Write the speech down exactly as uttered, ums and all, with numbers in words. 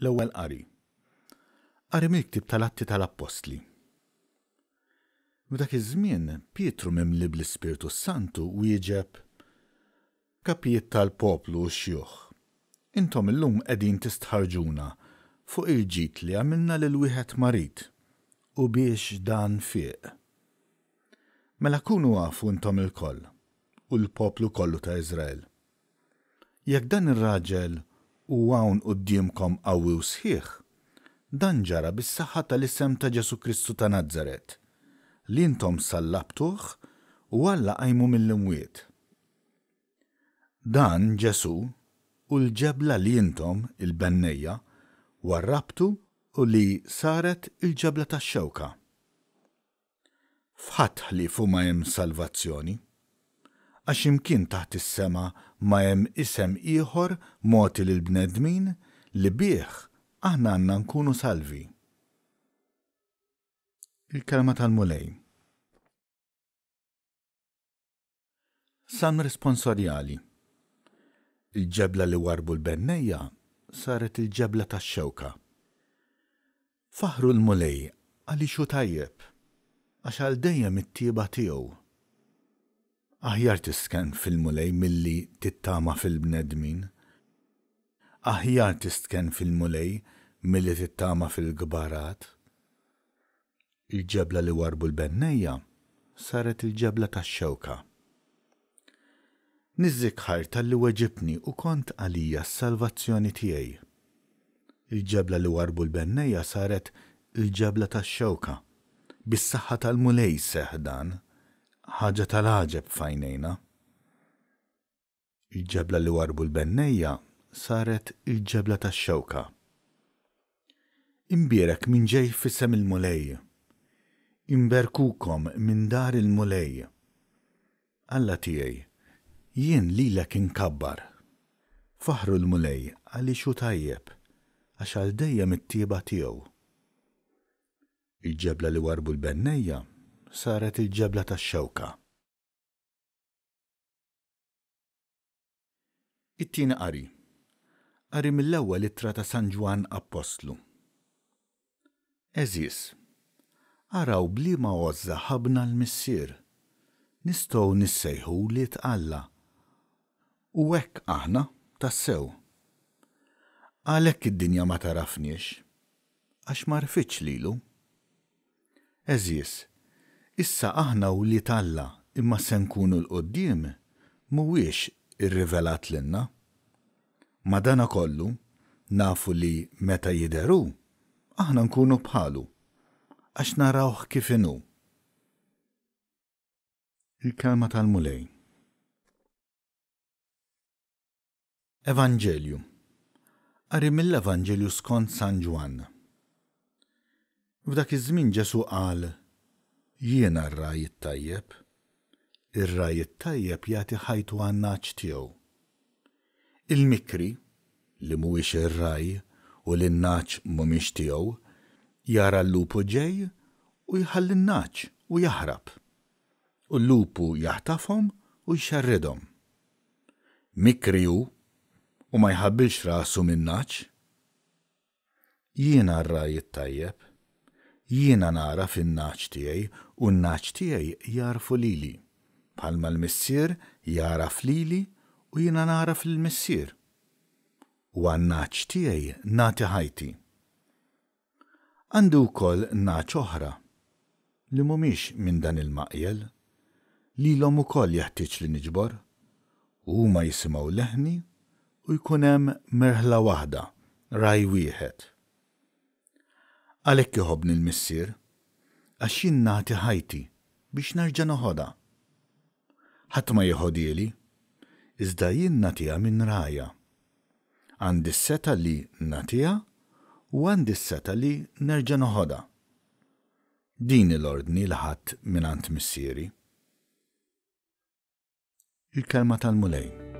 L-Ewwel Qari. Qari mill-Ktieb tal-Atti tal-Appostli. F'dak iż-żmien Pietru mimli bl-Ispirtu s-Santu wieġeb, Kapijiet tal-poplu u xjuħ, intom illum qegħdin tistħarrġuna fuq il-ġid li għamilna lil wieħed marid u biex dan fieq. Mela kunu afu intom ilkoll u l-poplu kollu ta' Iżrael. Jekk dan ir-raġel hu hawn quddiemkom qawwi u sħiħ, dan ġara bis-saħħa tal-isem ta' Ġesù Kristu ta' Nazaret, li intom sallabtuh u Alla qajmu mill-imwiet. Dan Ġesù hu l-ġebla li intom, il-bennejja, warrabtu u li saret il-ġebla tax-xewka. F'ħadd ħliefu ma hemm salvazzjoni. Għax imkien taħt is-sema ma hemm isem ieħor mogħti lill-bnedmin li bih aħna għandna nkunu salvi. Il-Kelma tal-Mulej. Salm responsorjali. Il-ġebla li warrbu l-bennejja saret il-ġebla tax-xewka. Faħħru l-Mulej għaliex hu tajjeb, għax għal dejjem it-tjieba tiegħu. Aħjar tistkenn fil-Mulej milli tittama fil-bnedmin. Aħjar tistkenn fil-Mulej milli tittama fil-kbarat. Il-ġebla li warrbu l-bennejja saret il-ġebla tax-xewka. Niżżik ħajr talli weġibtni u kont għalija s-salvazzjoni tiegħi. Il-ġebla li warrbu l-bennejja saret il-ġebla tax-xewka. Bis-saħħa tal-Mulej seħħ dan, ħaġa tal-għaġeb f'għajnejna. Il-ġebla li warrbu l-bennejja saret il-ġebla tax-xewka. Imbierek min ġej f'isem il-Mulej. Inberkukom minn dar il-Mulej. Alla tiegħi, jien lilek inkabbar. Faħħru l-Mulej għaliex hu tajjeb, għax għal dejjem it-tjieba tiegħu. Il-ġebla li warrbu l-bennejja saret il-ġebla tax-xewka. It-tieni qari. Qari mill-ewwel ittra ta' San Ġwann Appostlu. Għeżież, araw b'liema għożża ħabbna l-Missier. Nistgħu nissejħu wlied Alla. U hekk aħna tassew. Għalhekk id-dinja ma tagħrafniex, għax m'għarfitx lilu. Għeżież, issa aħna wlied Alla imma se nkunu 'l quddiem mhuwiex irrivelat lilna. Madanakollu, nafu li meta jidher hu, aħna nkunu bħalu, għax narawh kif inhu. Il-Kelma tal-Mulej. Evanġelju. Qari mill-Evanġelju skont San Ġwann. F'dak iż-żmien Ġesù qal, Jiena r-ragħaj it-tajjeb. Ir-ragħaj it-tajjeb jagħti ħajtu għan-nagħaġ tiegħu. Il-mikri, li mhuwiex ir-ragħaj u li n-nagħaġ mhumiex tiegħu, jara l-lupu ġej u jħalli n-nagħaġ u jaħrab. U l-lupu jaħtafhom u jxerridhom. Mikri hu u ma jħabbilx rasu min-nagħaġ. Jiena r-ragħaj it-tajjeb. Jiena nagħraf in-nagħaġ tiegħi u n-nagħaġ tiegħi jagħrfu lili, bħalma l-Missier jagħraf lili u jiena nagħraf lill-Missier. U għan-nagħaġ tiegħi nagħti ħajti. Għandi wkoll nagħaġ oħra, li mhumiex minn dan il-maqjel. Lilhom ukoll jeħtieġ li niġbor, u huma jisimgħu leħni u jkun hemm merħla waħda, ragħaj wieħed. Għalhekk iħobbni l-Missier, għax jien nagħti ħajti biex nerġa' noħodha. Ħadd ma jeħodhieli, iżda jien nagħtiha minn rajja. Għandi s-setgħa li nagħtiha u għandi s-setgħa li nerġa' noħodha. Din hi l-ordni li ħadt mingħand Missieri. Il-Kelma tal-Mulej.